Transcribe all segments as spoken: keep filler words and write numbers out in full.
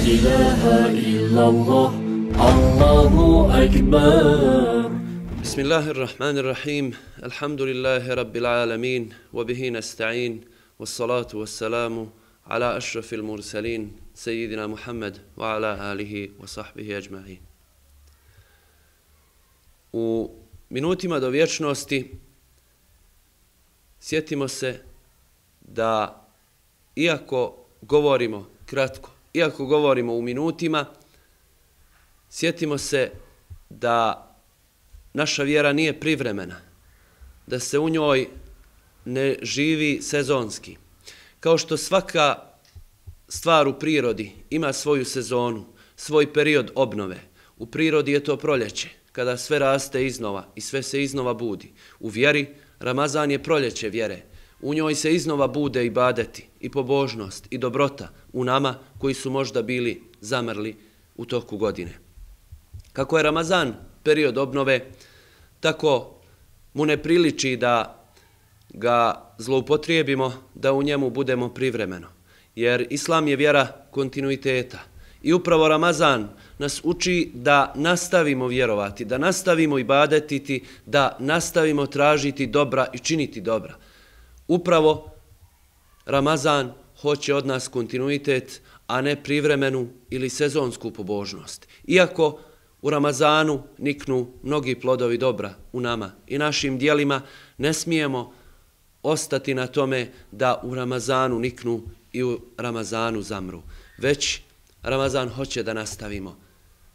إله إلا الله الله أكبر. بسم الله الرحمن الرحيم. الحمد لله رب العالمين وبه نستعين والصلاة والسلام على أشرف المرسلين سيدنا محمد وعلى آله وصحبه أجمعين. U minutima do vječnosti sjetimo se da iako govorimo kratko, iako govorimo u minutima, sjetimo se da naša vjera nije privremena, da se u njoj ne živi sezonski. Kao što svaka stvar u prirodi ima svoju sezonu, svoj period obnove. U prirodi je to proljeće, kada sve raste iznova i sve se iznova budi. U vjeri, Ramazan je proljeće vjere. U njoj se iznova bude ibadeti i pobožnost i dobrota u nama koji su možda bili zamrli u toku godine. Kako je Ramazan period obnove, tako mu ne priliči da ga zloupotrijebimo, da u njemu budemo privremeno. Jer Islam je vjera kontinuiteta. I upravo Ramazan nas uči da nastavimo vjerovati, da nastavimo ibadetiti, da nastavimo tražiti dobra i činiti dobra. Upravo Ramazan hoće od nas kontinuitet, a ne privremenu ili sezonsku pobožnost. Iako u Ramazanu niknu mnogi plodovi dobra u nama i našim dijelima, ne smijemo ostati na tome da u Ramazanu niknu i u Ramazanu zamru. Već Ramazan hoće da nastavimo,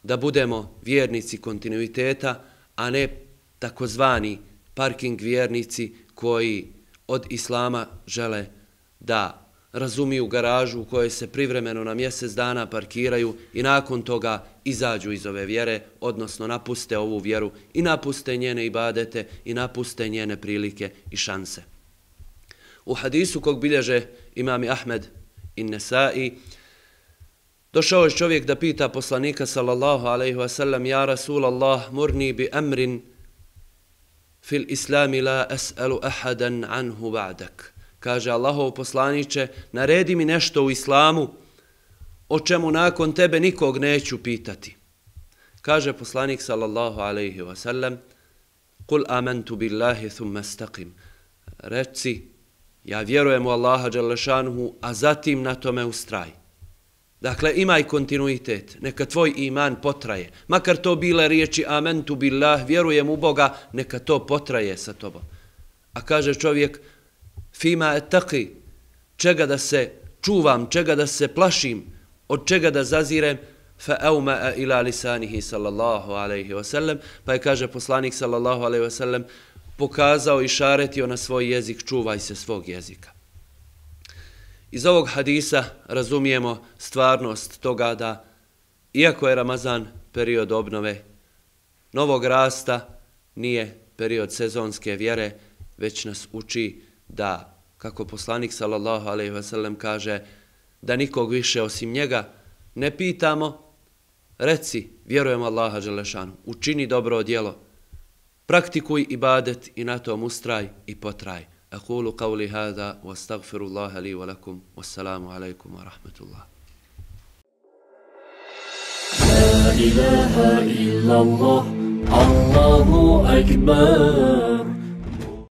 da budemo vjernici kontinuiteta, a ne takozvani parking vjernici koji od Islama žele da razumiju garažu u kojoj se privremeno na mjesec dana parkiraju i nakon toga izađu iz ove vjere, odnosno napuste ovu vjeru i napuste njene ibadete i napuste njene prilike i šanse. U hadisu kog bilježe imami Ahmed i Nesai, došao je čovjek da pita poslanika sallallahu alaihi wa sallam: Ja Rasulallah, murni bi amrin fil islami la es'alu ahadan anhu ba'dak. Kaže: Allahov poslaniče, naredi mi nešto u islamu o čemu nakon tebe nikog neću pitati. Kaže poslanik sallallahu alaihi wa sallam: Kul amantu billahi thumma staqim. Reci, ja vjerujem u Allaha dželle šanuhu, a zatim na tome ustraj. Dakle, imaj kontinuitet, neka tvoj iman potraje. Makar to bile riječi amantu billah, vjerujem u Boga, neka to potraje sa tobom. A kaže čovjek: Fima etaki, čega da se čuvam, čega da se plašim, od čega da zazirem, fa euma ila lisanihi sallallahu alaihi wa sallam, pa je, kaže poslanik sallallahu alaihi wa sallam, pokazao i šaretio na svoj jezik: čuvaj se svog jezika. Iz ovog hadisa razumijemo stvarnost toga da, iako je Ramazan period obnove, novog rasta, nije period sezonske vjere, već nas uči da, kako poslanik sallallahu alejhi ve sellem kaže, da nikog više osim njega ne pitamo. Reci, vjerujem Allaha dželle šanuhu, učini dobro djelo, praktikuj ibadet i na tom ustraj i potraj. Aqulu qawli hada wa astaghfirullaha li wa lakum. Wassalamu alaikum wa rahmatullah. La ilaha illallah, Allahu akbar.